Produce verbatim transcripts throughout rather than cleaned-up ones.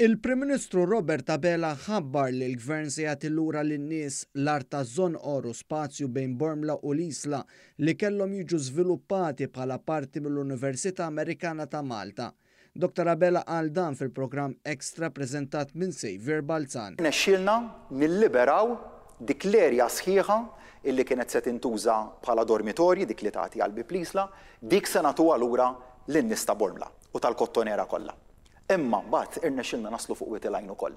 Il-Prim Ministru Robert Abela ħabbar li l-Gvern se jagħti lura lin-nies l-art taż-Żonqor u spazju bejn Bormla u l-Isla li kellhom jiġu żviluppati bħala parti mill-Università Amerikana ta' Malta. Dottor Abela qal dan fil-programm Extra preżentat minn Xavier Balzan. Nexxielna nilliberaw dik l-erja sħiħa illi kienet se tintuża bħala dormitorji, dik li tagħti għal bieb l-Isla, dik se nagħtuha lura lin-nies ta' Bormla u tal-Kottonera kollha. Imma mbagħad irnexxielna naslu fuq Wied il-Għajn ukoll.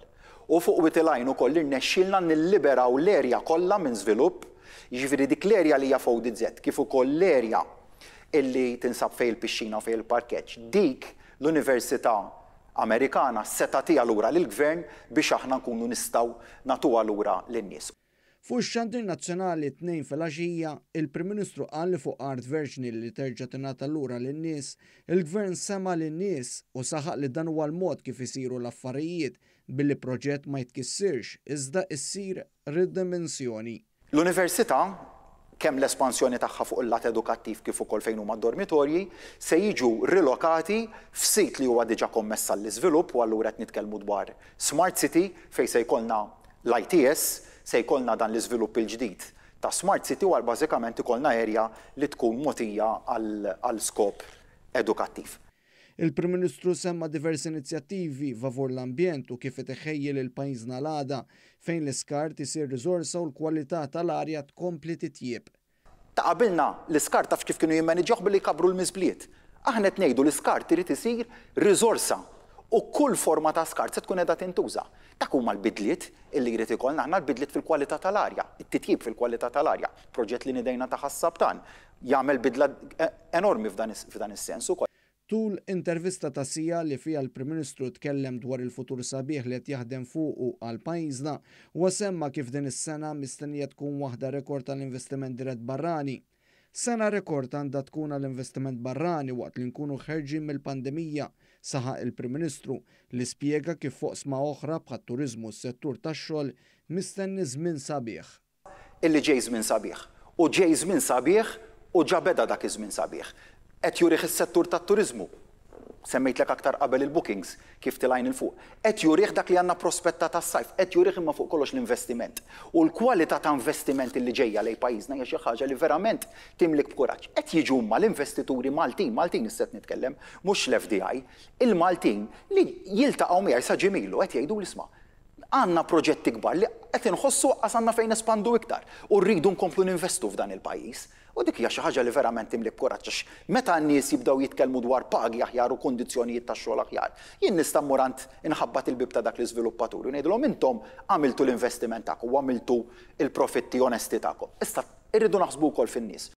U fuq Wied il-Għajn ukoll irnexxielna nilliberaw l-erja kollha minn żvilupp, jiġifieri dik l-erja li hija F O D Z kif ukoll l-erja illi tinsab fejn il-pixxina u fejn il-parkeġġ. Dik l-Università Amerikana se tagħtiha lura lill-Gvern biex aħna nkunu nistgħu nagħtuha lura lin-nies. Fuq ix-xandir nazzjonali t-Tnejn filgħaxija, il-Prim Ministru qal li fuq art verġni li terġa' tingħata lura lin-nies, il-Gvern sema' lin-nies u saħaq li dan huwa l-mod kif isiru l-affarijiet billi proġett ma jitkissirx iżda issir ridimensjoni. L-Università, kemm l-espansjoni tagħha fuq il-lat edukattiv kif ukoll fejn huma dormitorji, se jiġu rilokati f'sit li huwa diġà kommess għall-iżvilupp, u allura qed nitkellmu dwar Smart City, fejn se jkollna l-I T S, se jkollna dan l-iżvilupp il-ġdid ta' Smart City, u għal bażikament ikollna area li tkun mogħtija għal skop edukattiv. Il-Prim Ministru semma diversi inizjattivi favur l-ambjent u kif iħejji lil pajjiżna l-għada, fejn l-iskart isir riżorsa u l-kwalità tal-arja tkompli titjieb. Ta' qabilna l-iskart taf kif kienu jimmaniġġjaw? Billi jkabbru l-miżbliet. Aħna qed ngħidu l-iskart irid isir riżorsa u kull forma ta' skart se tkun qiegħda tintuża. Dak huma l-bidliet illi jrid ikollna aħna, l-bidliet fil-kwalità tal-arja, it-titjib fil-kwalità tal-arja. Proġett li nidejna ta' Ħas-Saptan jagħmel bidla enormi f'dan is-sens ukoll. Tul intervista ta' siegħa li fija l-Prim Ministru tkellem dwar il-futur sabiħ li qed jaħdem fuqu għal pajjiżna, huwa semma kif din is-sena mistennija tkun waħda rekord tal-investiment dirett barrani. "Sena rekord għandha tkun għall-investiment barrani waqt li nkunu ħerġin mill-pandemija", saħaq il-Prim Ministru, li spjega kif f'oqsma oħra bħat-turiżmu u s-settur tax-xogħol mistenni żmien sabiħ. Illi ġej żmien sabiħ. U ġej żmien sabiħ u ġa beda dak iż-żmien sabiħ. Qed jurih is-settur tat-turiżmu. Semmejtlek aktar qabel il-bookings kif telgħin 'il fuq. Qed jurih dak li għandna prospetta tas-sajf, qed jurih imma fuq kollox l-investiment. U l-kwalità ta' investiment li ġejja lejn pajjiżna hija xi ħaġa li verament timlik b'kuraġġ. Qed jiġu huma l-investituri Maltin, Maltin issa nitkellem, mhux l-F D I, il-Maltin li jiltaqgħu miegħi sa ġimgħa ilu qed jgħidu, "Isma', għandna proġetti kbar li qed inħossu qas għandna fejn nespandu iktar u rridu nkomplu ninvestu f'dan il-pajjiż." U dik hija xi ħaġa li verament timlik kuraġġ, għax meta n-nies jibdew jitkellmu dwar pagi aħjar u kundizzjonijiet ta' xogħol aħjar, jien nista' mmur għand inħabbat il-bib ta' dak l-iżviluppaturi u ngħidilhom, "Intom għamiltu l-investiment tagħkom u għamiltu il-profitti onesti tagħkom. Issa irridu naħsbu wkoll fin-nies."